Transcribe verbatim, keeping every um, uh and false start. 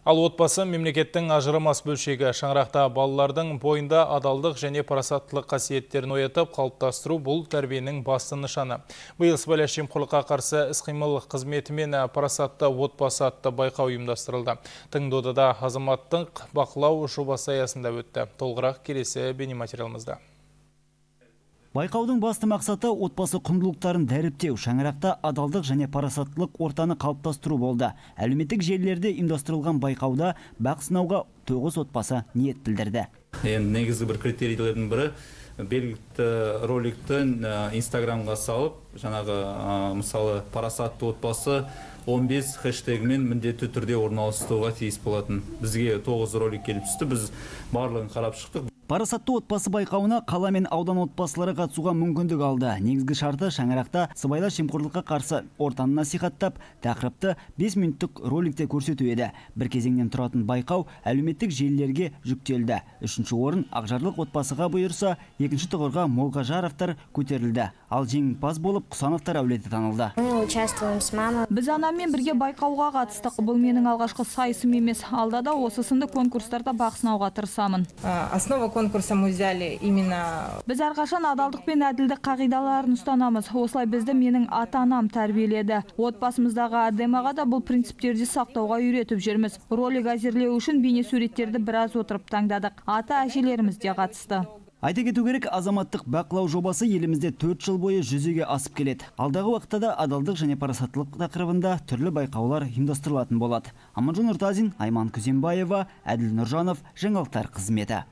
Ал отбасы мемлекеттің ажырамас бөлшегі. Шаңырақта балалардың бойында адалдық және парасаттылық қасиеттерін оятып, қалыптастыру бұл тәрбиенің басты нышаны. Биыл сыбайлас жемқорлыққа қарсы іс-қимыл қызметі мен парасатты отбасы атты байқау ұйымдастырылды. Тыңдодада азаматтық бақылау жобасы аясында өтті. Толығырақ келесі бейнематериалымызда. Байқаудың басты мақсаты отбасы құндылықтарын дәріптеу, шаңырақта адалдық және парасаттылық ортаны қалыптастыру болды. Әлеуметтік желілерде ұйымдастырылған байқауда бақ сынауға тоғыз отбасы ниет білдірді. Енді негізгі бір критерийлердің бірі белгілі роликті инстаграмға салып, жаңағы мысалы парасатты отбасы он бес хэштегімен міндетті түрде орналастыруға тиіс болатын. Бізге тоғыз ролик келіп түсті, біз барлығын қарап шықтық. Парасатты отбасы байқауына қала мен аудан отбасылары қатысуға мүмкіндік алды. Негізгі шарты шаңырақта сыбайлас жемқорлыққа қарсы ортаны насихаттап, тақырыпты бес минуттық роликте көрсету еді. Бір кезеңнен тұратын байқау әлеуметтік желілерге жүктелді. Үшінші орын Ақжарлық отбасыға бұйырса, екінші тұғырға Молғажаровтар көтерілді. Ал жеңімпаз болып Құсановтар әулеті танылды. Біз анаммен бірге байқауға қатыстық. Бұл менің алғашқы сайысым емес. Алда да осы сынды конкурстарда бақ сынауға тырысамын. Основа конкурса мы взяли именно... Біз әрқашан адалдық пен әділдік қағидаларын ұстанамыз. Осылай бізді менің ата-анам тәрбиеледі. Отбасымыздағы әдемаға да бұл принциптерді сақтауға үйретіп жүрміз. Ролик әзірлеу үшін бейне суреттерді біраз отырып таңдадық. Ата-әжелеріміз де қатысты. Айта кету керек, азаматтық бақылау жобасы елімізде төрт жыл бойы жүзеге асып келеді. Алдағы уақытта да адалдық және парасаттылық тақырыбында түрлі байқаулар ұйымдастырылатын болады. Аманжол Нұртазин, Айман Күзембаева, Әділ Нұржанов, жаңалықтар қызметі.